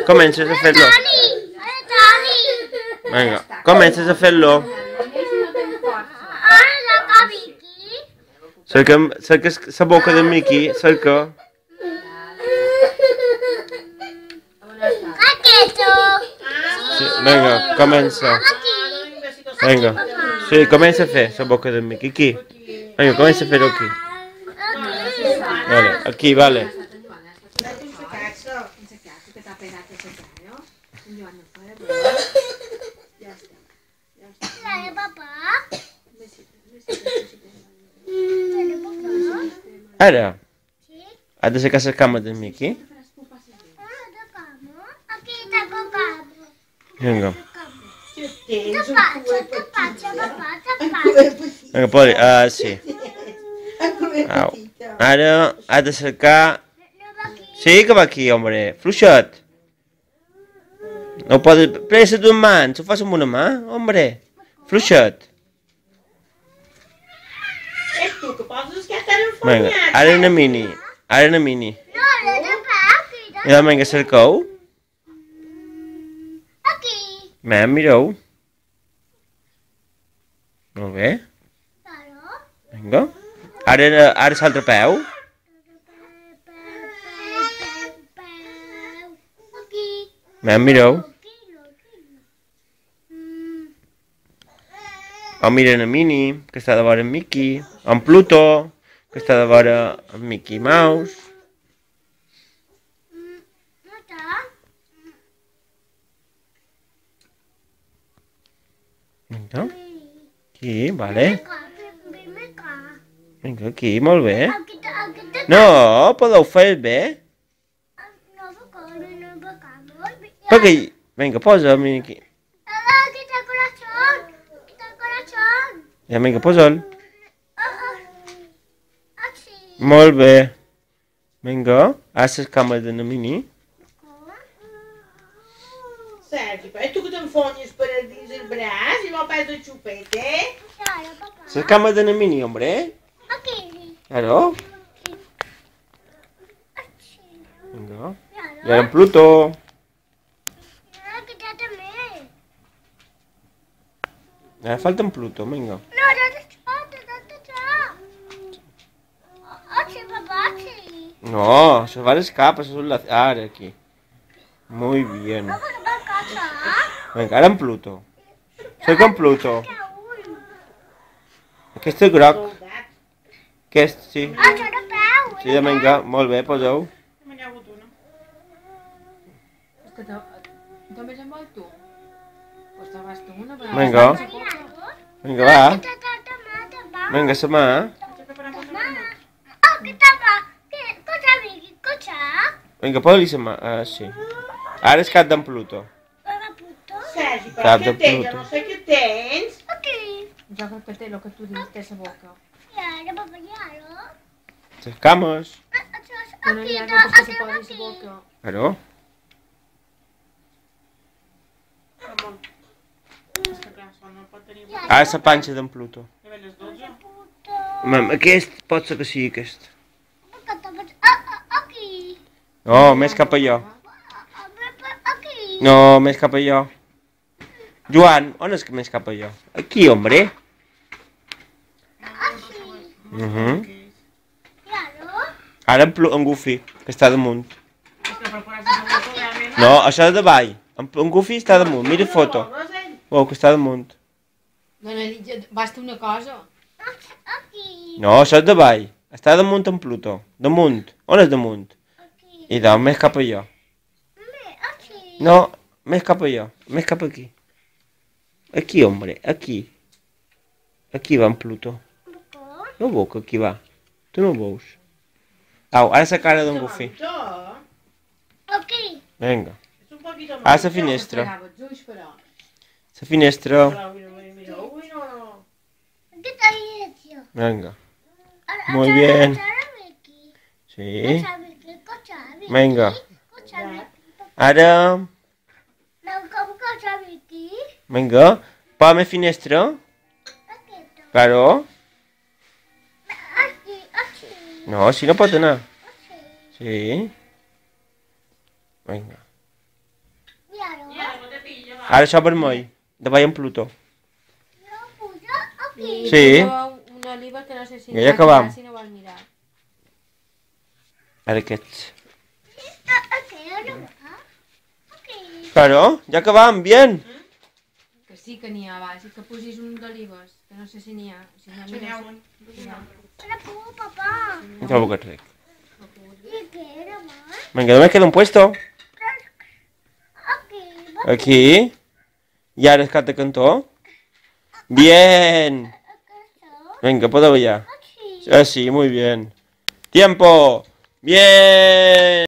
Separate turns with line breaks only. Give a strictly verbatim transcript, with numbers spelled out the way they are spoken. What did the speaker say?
Comences a fer-lo. Vinga, comences a fer-lo. Cerca, cerca la boca de Mickey, cerca. Sí, vinga, comença. Vinga. Sí, comença a fer la boca de Mickey. Aquí. Vinga, comença a fer-ho aquí. Vale, aquí, vale. Ara, has de sacar la cama de Mickey. Vinga. Vinga, podi, ah, sí. Au. Ara has de cercar... Sí, que va aquí, hombre. Fluixet. No podes... Pressa d'un man, s'ho fas amb una mà, hombre. Fluixet. Vinga, ara una mini. Ara una mini. Ja, vinga, cercau. Mem, mireu. Molt bé. Vinga. Ara, ara l'altre peu. Mem, mireu. O miren a Minnie, que està de vora en Mickey. O en Pluto, que està de vora en Mickey Mouse. Vinga. Aquí, vale. Vinga, aquí, molt bé. No, podeu fer bé. Perquè... Vinga, posa'm aquí. Ja, vinga, posa'l. Molt bé. Vinga, ara les càmeres de la Mini.
Sergi, però tu que t'enfonyes per dins el braç i no pas el xupet, eh?
Les càmeres de la Mini, hombre. Claro. Vinga. I ara en Pluto. Ara falta en Pluto, vinga. No, se va a escapar, eso es la... Ahora aquí. Muy bien. Venga, ahora en Pluto. Soy con Pluto. Aquest és groc. Aquest, sí. Sí, vinga, molt bé, poseu.
Me n'hi ha hagut una.
És que també se'n vol tu? Pues te vas tu una, però...
Vinga. Vinga, va. Vinga, sa mà. Vinga, posa-li sa mà. Ah, sí. Ara és cap d'en Pluto.
Sergi, però
Cap
què
de
tens?
Pluto.
No sé què tens.
Jo crec que té el que tu dius, té la boca.
Les cames.
Que no hi ha res que se posi la boca.
Claro.
Ramon. És que clar, això no pot tenir...
Ara la panxa d'en Pluto.
Ja ve les dotze.
Mam, aquest pot ser que sigui aquest. No, més cap allò. No, més cap allò. Joan, on és que més cap allò? Aquí, hombre. Uh -huh. Ara en, en Goofy, que està damunt.
És que per posar-se la boca realment...
No, això és de baix. En, en Goofy està damunt, mira foto. Oh, que està damunt.
No, no, basta una cosa.
No, això és de baix. Està damunt en Pluto. Damunt. On és damunt? I doncs, més cap allò. No, més cap allò. Més cap aquí. Aquí, hombre, aquí. Aquí va en Pluto. No veu que aquí va. Tu no ho veus. Au, ara la cara d'en Goofy. Vinga. Ara la finestra. La finestra. Venga. Muy bien. Sí. Venga. Ara... Vinga. Pa més finestra. Claro. No, si no pot anar. Sí. Vinga. Ara això vermell. De veiem Plutó.
I
Sí.
una oliva que no sé si...
I ja acabam.
Si no vol mirar.
Ara aquests. Claro, ja acabam, bien.
Que sí que n'hi ha, va. Si que posis un d'olives, que no sé si n'hi ha. Si no,
Si n'hi ha
mira,
un.
si n'hi ha.
No trobo que ric. Venga, ¿dónde queda un puesto? Aquí. ¿Y ahora escate cantó? Bien. Venga, puedo ya. Ah, sí, muy bien. Tiempo. Bien.